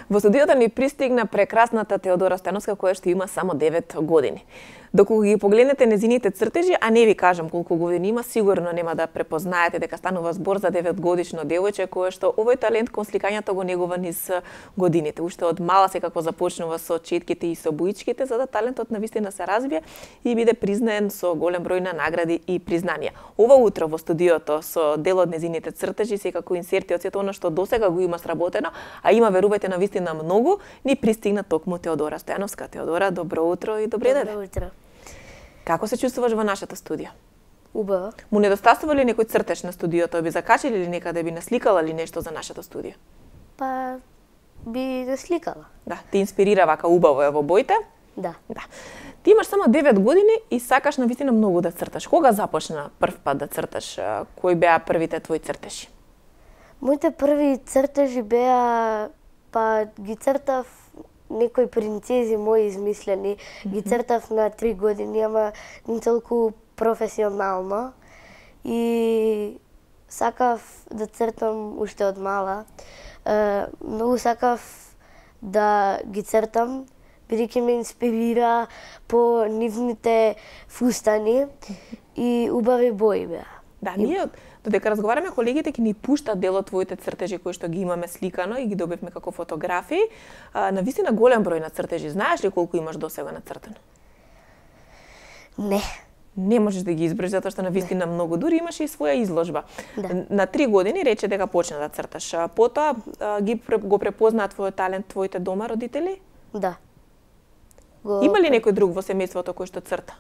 Во студиото ни пристигна прекрасната Теодора Стојановска, која што има само 9 години. Доколку ги погледнете незините цртежи, а не ви кажам колку години има, сигурно нема да препознаете дека станува збор за 9-годишно девојче кое што овој талент кон сликањето го негува низ годините. Уште од мала секако започнува со четките и со боичките, за да талентот навистина се развие и биде признаен со голем број на награди и признанија. Ова утро во студиото со дел од незините цртежи, секако инсерти од сето она што досега го има сработено, а има, верувајте, навистина многу, ни пристигна токму Теодора Стојановска. Теодора, добро утро и добре дојде. Добро утро. Како се чувствуваш во нашето студио? Убаво. Му недостасува ли некој цртеж на студиото? Би закачили ли некаде, би насликала ли нешто за нашето студио? Па би насликала. Да, те инспирира вака убаво е во боите? Да. Да. Ти имаш само 9 години и сакаш навистина многу да црташ. Кога започна прв пат да црташ? Кои беа првите твои цртежи? Моите први цртежи беа, па ги цртав некои принцези мои измислени. Ги цртав на 3 години, ама не толку професионално. И сакав да цртам уште од мала. Многу сакав да ги цртам, бидејќи ме инспирира по нивните фустани и убави бои беа. Да, ние додека разговараме, колегите ќе ни пуштат дел од твоите цртежи кои што ги имаме сликано и ги добивме како фотографии. Навистина голем број на цртежи. Знаеш ли колку имаш досега нацртано? Не. Не можеш да ги изброиш затоа што навистина многу, дури имаш и своја изложба. Да. На 3 години рече дека почна да црташ. Потоа го препознаат твојот талент твоите дома родители? Да. Има ли некој друг во семејството кој што црта?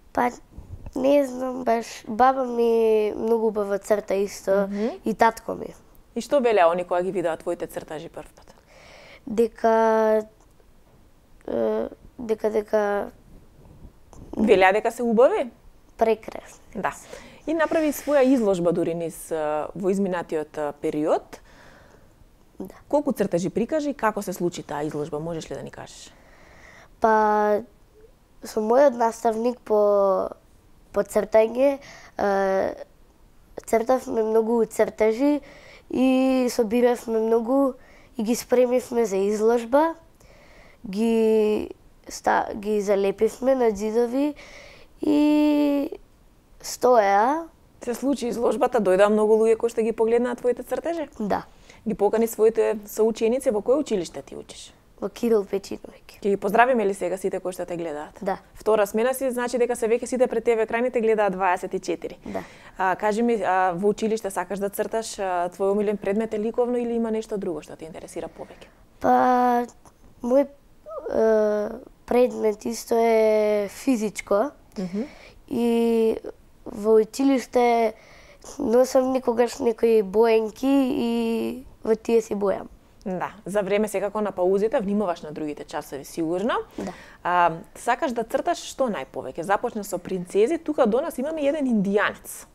Па не знам баш, баба ми многу убаво црта исто и татко ми. И што велеа они кога ги видеа твоите цртажи првпат? Дека Велеа дека се убави? прекрасни. Да. И направи своја изложба дури низ во изминатиот период. Да. Колку цртажи прикажи, како се случи таа изложба, можеш ли да ни кажеш? Па со мојот наставник по цртање цртавме многу цртажи и собиравме многу и ги спремивме за изложба. Ги залепивме на ѕидови и стоеа. Се случи изложбата, дојдоа многу луѓе кои што ги погледнаа твоите цртежи? Да. Ги покани своите соученици, во кој училиште ти учиш? Во Кирил Печиновиќ. Ќе ги поздравиме ли сега сите кои што те гледаат? Да. Втора смена си, значи дека се веќе сите пред ТВ екраните гледаат 24. Да. Кажи ми, во училиште сакаш да црташ, твој омилен предмет е ликовно или има нешто друго што те интересира повеќе? Па мој предмет исто е физичко. И во училиште носам никогаш некои боенки и во тие си бојам. Да, за време секако на паузите внимаваш на другите часови сигурно. Да. Сакаш да црташ што најповеќе? Започна со принцези, тука до нас имаме еден индијанец.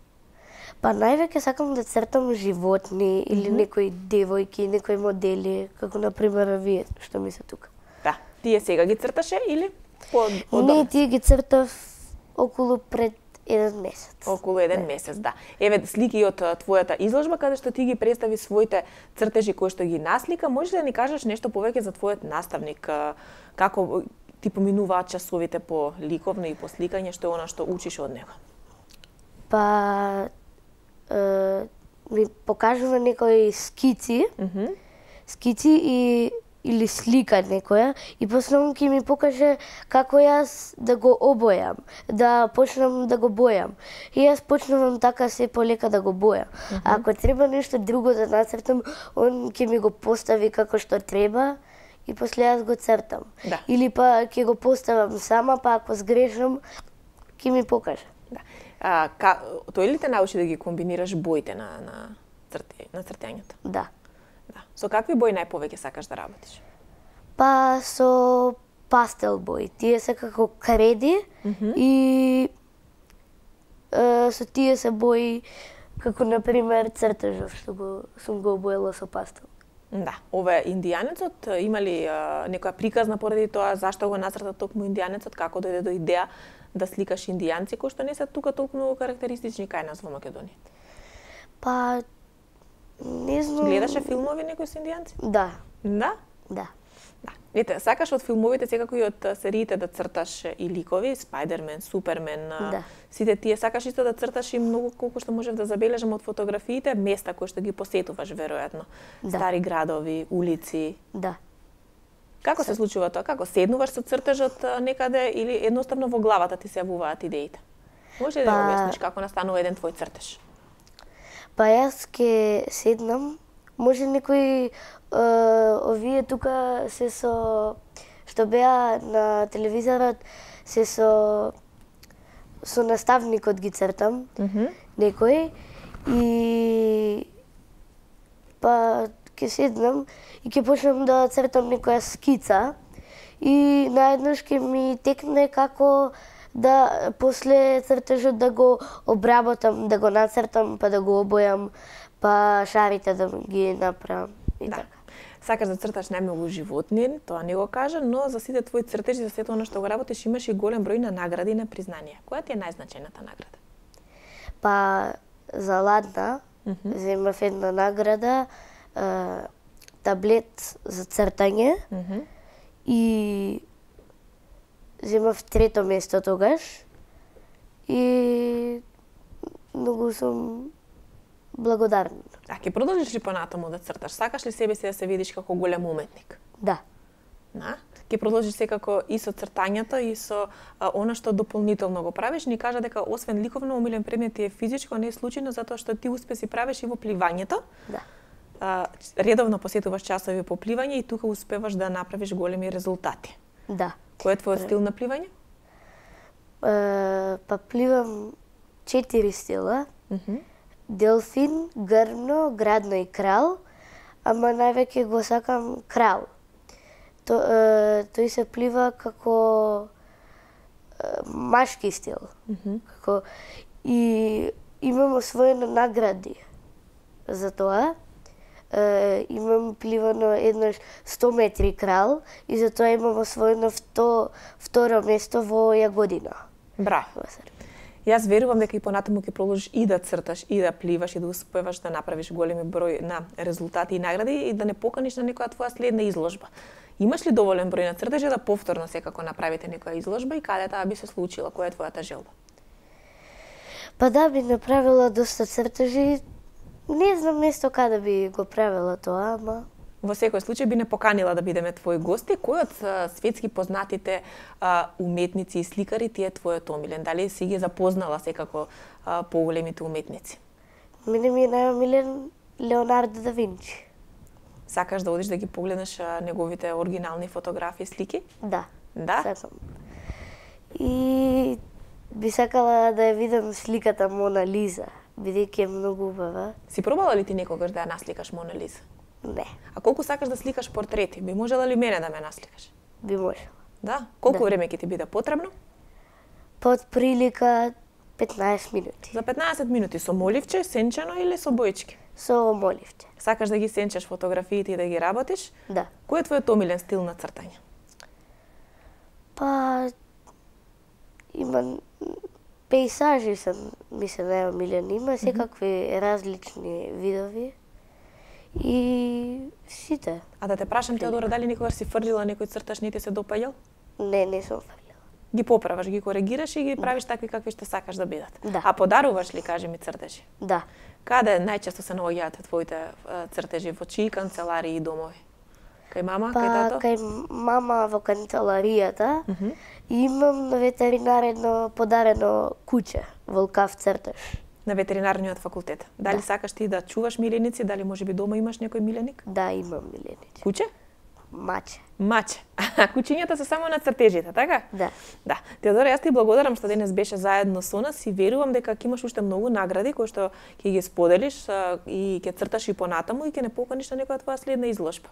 Па највеќе сакам да цртам животни или некои девојки, некои модели, како на пример вие што ми се тука. Да, тие сега ги црташе или Не, тие ги цртав околу пред 1 месец. Околу 1 месец, да. Еве слики од твојата изложба каде што ти ги представи своите цртежи кои што ги наслика. Можеш да ни кажеш нешто повеќе за твојот наставник? Како ти поминуваат часовите по ликовно и по сликање, што е она што учиш од него? Па ми покажува некои скици, или слика некоја и после он ќе ми покаже како јас да го обојам, да почнам да го бојам. И јас почнувам така се полека да го бојам. А ако треба нешто друго да нацртам, он ќе ми го постави како што треба и после јас го цртам. Да. Или па ќе го поставам сама, па ако сгрешам, ќе ми покаже. Да. Тој ли те научи да ги комбинираш боите на цртењето? Да. Да. Со какви бои најповеќе сакаш да работиш? Па со пастел бои. Тие се како креди и со тие се бои како на пример цртежов што сум го обоела со пастел. Да, ова е индијанецот, има ли некоја приказна поради тоа зашто го нацрта токму индијанецот, како дојде до идеја да сликаш индијанци кои што не се тука толку многу карактеристични кај нас во Македонија? Па не знам. Гледаше филмови некои со индијанци? Да. Да? Да. Да. Ете, сакаш од филмовите, секако и од сериите да црташ и ликови, Спајдермен, Супермен, Да. сите тие, сакаш исто да црташ и многу колку што можев да забележам од фотографиите, места кои што ги посетуваш веројатно. Да. Стари градови, улици. Да. Како се случува тоа? Како седнуваш со цртежот некаде или едноставно во главата ти се јавуваат идеите? Може ли да Па- објасниш како настанува еден твој цртеж? Па јас ке седнам, може некои овие тука се со што беа на телевизорот се со наставникот ги цртам, некој и па ке седнам и ке почнам да цртам некоја скица и наеднаш ке ми текне како да после цртежот да го обработам, да го нацртам, па да го обојам, па шарите да ги направам и Да. така. Сакаш да црташ најмногу животни, тоа не го кажа, но за сите твои цртежи, за сето она што го работиш, имаш и голем број на награди и на признанија. Која ти е најзначајната награда? Па за ладна земав една награда, таблет за цртање и земав трето место тогаш и многу сум благодарна. А ќе продолжиш ли понатаму да црташ? Сакаш ли себе си да се видиш како голем уметник? Да. Да? Ќе продолжиш секако и со цртањето и со она што дополнително го правиш. Ни кажа дека освен ликовно омилен предмет ти е физичко, не е случајно затоа што ти успеси правиш и во пливањето. Да. Редовно посетуваш часови по пливање и тука успеваш да направиш големи резултати. Да. Кој е твојот стил на пливање? Па пливам 4 стила. Делфин, грбно, градно и крал, ама највеќе го сакам крал. Тој се плива како машки стил. Како и имам освоено награди за тоа. Имам пливано еднаш 100 метри крал и за тоа имам освоено второ место во Јагодина. Браво. во Србија. Јас верувам дека и понатаму ќе продолжиш и да црташ, и да пливаш, и да успеваш да направиш големи број на резултати и награди и да не поканиш на некоја твоја следна изложба. Имаш ли доволен број на цртежи да повторно секако направите некоја изложба и каде таа би се случила? Која е твојата желба? Па да, би направила доста цртежи. Не знам место каде би го правила тоа, ама Во секој случај би не поканила да бидеме твои гости. Кој од светски познатите уметници и сликари ти е твојот омилен? Дали си ги запознала секако поголемите уметници? мене ми е најомилен Леонардо да Винчи. Сакаш да одиш да ги погледнеш неговите оригинални фотографии, слики? Да. Да? Сакам. И би сакала да ја видам сликата Мона Лиза, бидејќи е многу убава. Си пробала ли ти некогаш да ја насликаш Мона Лиза? Не, А колку сакаш да сликаш портрети? Би можела ли мене да ме насликаш? би можела. Да? Колку Да. време ќе ти биде потребно? Под прилика 15 минути. За 15 минути со моливче, сенчено или со боички? Со моливче. Сакаш да ги сенчеш фотографиите и да ги работиш? Да. Кој е твојот омилен стил на цртање? Па има пейзажи ми се најомилени. Има секакви различни видови. И сите. А да те прашам, Теодора, дали никогаш си фрлила некој црташ не ти се допаѓал? Не сум фрлила. Ги поправаш, ги коригираш и ги правиш такви какви што сакаш да бидат. Да. А подаруваш ли, кажи ми, цртежи? Да. Каде најчесто се наоѓаат твоите цртежи, во чии канцеларии и домови? Кај мама, кај Па тато? кај мама во канцеларијата и имам на ветеринарно подарено куќе, волкав цртеж. На ветеринарниот факултет. Дали Да. сакаш ти да чуваш миленици, дали можеби дома имаш некој миленик? Да, имам милениче. Куќе? Маче. Маче. Куќињата се само на цртежите, така? Да. Да. Теодора, јас ти благодарам што денес беше заедно со нас и верувам дека ќе имаш уште многу награди кои што ќе ги споделиш и ќе црташ и понатаму и ќе не поканиш на некоја твоја следна изложба.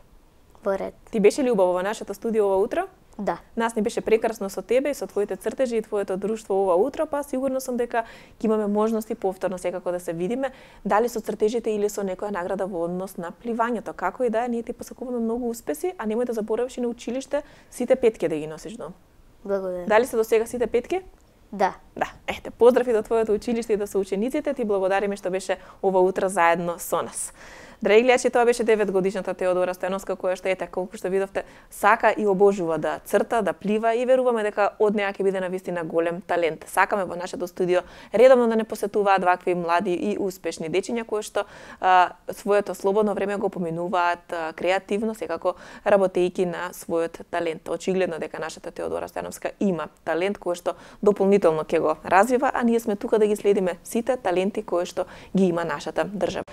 Во ред. Ти беше ли убаво во нашето студио ова утро? Да. Нас ни беше прекрасно со тебе и со твоите цртежи и твоето друштво ова утро, па сигурно сум дека ќе имаме можности повторно секако да се видиме, дали со цртежите или со некоја награда во однос на пливањето. Како и да е, ние ти посакуваме многу успеси, а немој да заборавиш и на училиште сите петки да ги носиш дом. Благодарам. Дали се до сега сите петки? Да. Да, ете, поздрави до твоето училиште и до соучениците, ти благодариме што беше ова утро заедно со нас. Драги гледачи, тоа беше 9-годишната Теодора Стојановска, која што ете, колку што видовте, сака и обожува да црта, да плива и веруваме дека од неа ќе биде навистина голем талент. Сакаме во нашето студио редовно да не посетуваат вакви млади и успешни дечиња кои што своето слободно време го поминуваат креативно, секако работејќи на својот талент. Очигледно дека нашата Теодора Стојановска има талент кој што дополнително ќе го развива, а ние сме тука да ги следиме сите таленти кои што ги има нашата држава.